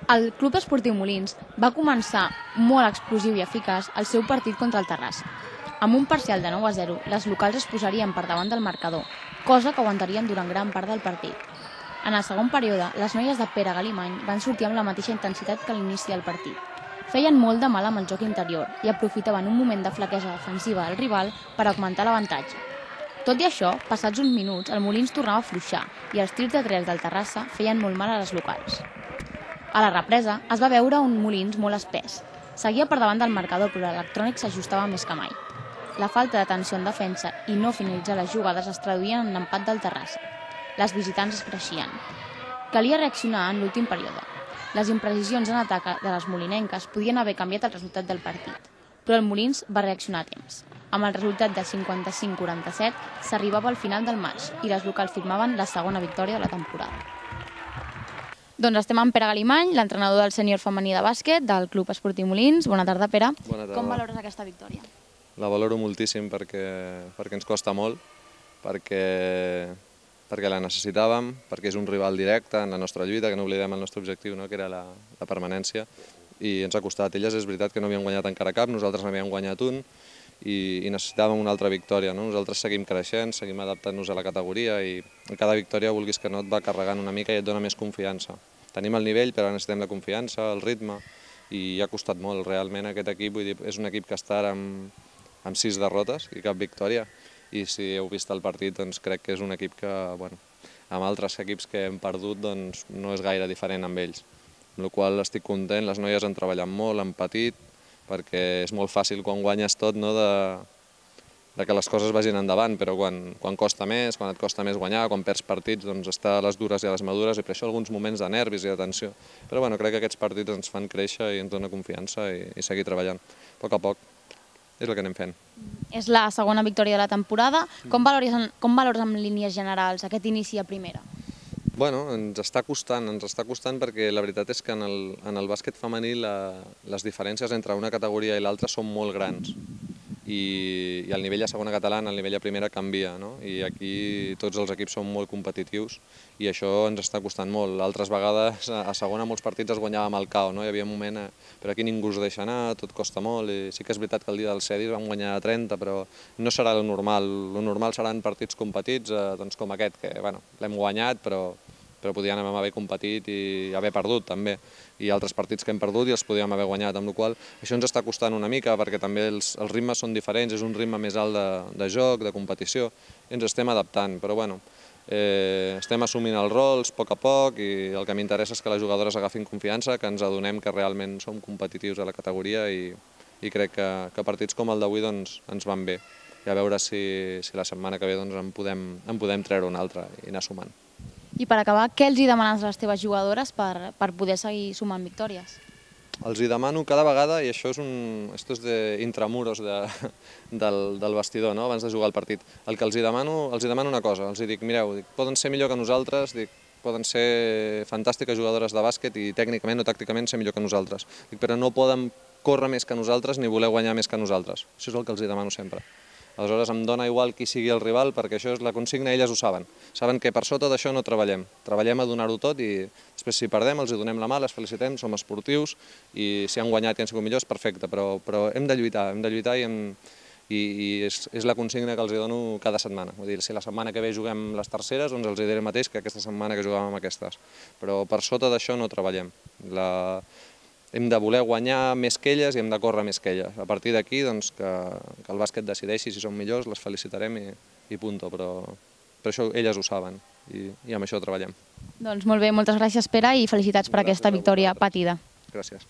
El Club Esportiu Molins va començar molt explosiu i eficaç el seu partit contra el Terrassa. Amb un parcial de 9-0, les locals es posarien per davant del marcador, cosa que aguantarien durant gran part del partit. En el segon període, les noies de Pere Galimany van sortir amb la mateixa intensitat que a l'inici del partit. Feien molt de mal amb el joc interior i aprofitaven un moment de flaquesa defensiva del rival per augmentar l'avantatge. Tot i això, passats uns minuts, el Molins tornava a afluixar i els tirs de 3 del Terrassa feien molt mal a les locals. A la represa es va veure un Molins molt espès. Seguia per davant del marcador, però l'electrònic s'ajustava més que mai. La falta d'atenció en defensa i no finalitzar les jugades es traduïen en l'empat del Terrassa. Les visitants es creixien. Calia reaccionar en l'últim període. Les imprecisions en atac de les molinenques podien haver canviat el resultat del partit, però el Molins va reaccionar a temps. Amb el resultat de 55-47 s'arribava al final del matx i les locals firmaven la segona victòria de la temporada. Doncs estem amb Pere Galimany, l'entrenador del sènior femení de bàsquet del Club Esportiu Molins. Bona tarda, Pere. Bona tarda. Com valores aquesta victòria? La valoro moltíssim perquè ens costa molt, perquè la necessitàvem, perquè és un rival directe en la nostra lluita, que no oblidem el nostre objectiu, que era la permanència, i ens ha costat. Elles és veritat que no havien guanyat encara cap, nosaltres n'havíem guanyat un, i necessitàvem una altra victòria. Nosaltres seguim creixent, seguim adaptant-nos a la categoria i cada victòria, vulguis que no, et va carregant una mica i et dona més confiança. Tenim el nivell, però necessitem la confiança, el ritme, i ha costat molt. Realment aquest equip, vull dir, és un equip que està ara amb 6 derrotes i cap victòria, i si heu vist el partit, doncs crec que és un equip que, amb altres equips que hem perdut, doncs no és gaire diferent amb ells. Amb la qual cosa estic content, les noies han treballat molt, han patit, perquè és molt fàcil quan guanyes tot de que les coses vagin endavant, però quan costa més, quan et costa més guanyar, quan perds partits, doncs està a les dures i a les madures, i per això alguns moments de nervis i de tensió. Però crec que aquests partits ens fan créixer i ens dona confiança i seguir treballant. A poc a poc és el que anem fent. És la segona victòria de la temporada. Com valores en línies generals aquest inici a primera? Ens està costant perquè la veritat és que en el bàsquet femení les diferències entre una categoria i l'altra són molt grans, i el nivell a segona catalana, el nivell a primera canvia, i aquí tots els equips són molt competitius i això ens està costant molt. Altres vegades a segona molts partits es guanyava amb el KO, hi havia un moment, però aquí ningú us deixa anar, tot costa molt, i sí que és veritat que el dia del Cedis vam guanyar 30, però no serà el normal. El normal seran partits competits com aquest, que l'hem guanyat, però podíem haver competit i haver perdut també, i altres partits que hem perdut i els podíem haver guanyat, amb la qual cosa això ens està costant una mica perquè també els ritmes són diferents, és un ritme més alt de joc, de competició, i ens estem adaptant, però estem assumint els rols a poc, i el que m'interessa és que les jugadores agafin confiança, que ens adonem que realment som competitius a la categoria, i crec que partits com el d'avui ens van bé, i a veure si la setmana que ve en podem treure un altre i anar sumant. I per acabar, què els demanes a les teves jugadores per poder seguir sumant victòries? Els demano cada vegada, i això és d'intramuros del vestidor, abans de jugar el partit, el que els demano una cosa, els dic, mireu, poden ser millor que nosaltres, poden ser fantàstiques jugadores de bàsquet i tècnicament o tàcticament ser millor que nosaltres, però no poden córrer més que nosaltres ni voler guanyar més que nosaltres. Això és el que els demano sempre. Aleshores em dona igual qui sigui el rival, perquè això és la consigna, elles ho saben. Saben que per sota d'això no treballem. Treballem a donar-ho tot, i després si perdem els donem la mà, les felicitem, som esportius, i si han guanyat i han sigut millors, perfecte, però hem de lluitar i és la consigna que els dono cada setmana. Vull dir, si la setmana que ve juguem les terceres, doncs els diré el mateix que aquesta setmana que jugàvem amb aquestes. Però per sota d'això no treballem. Hem de voler guanyar més que elles i hem de córrer més que elles. A partir d'aquí, que el bàsquet decideixi si som millors, les felicitarem i punto, però això elles ho saben i amb això treballem. Doncs molt bé, moltes gràcies, Pere, i felicitats per aquesta victòria patida. Gràcies.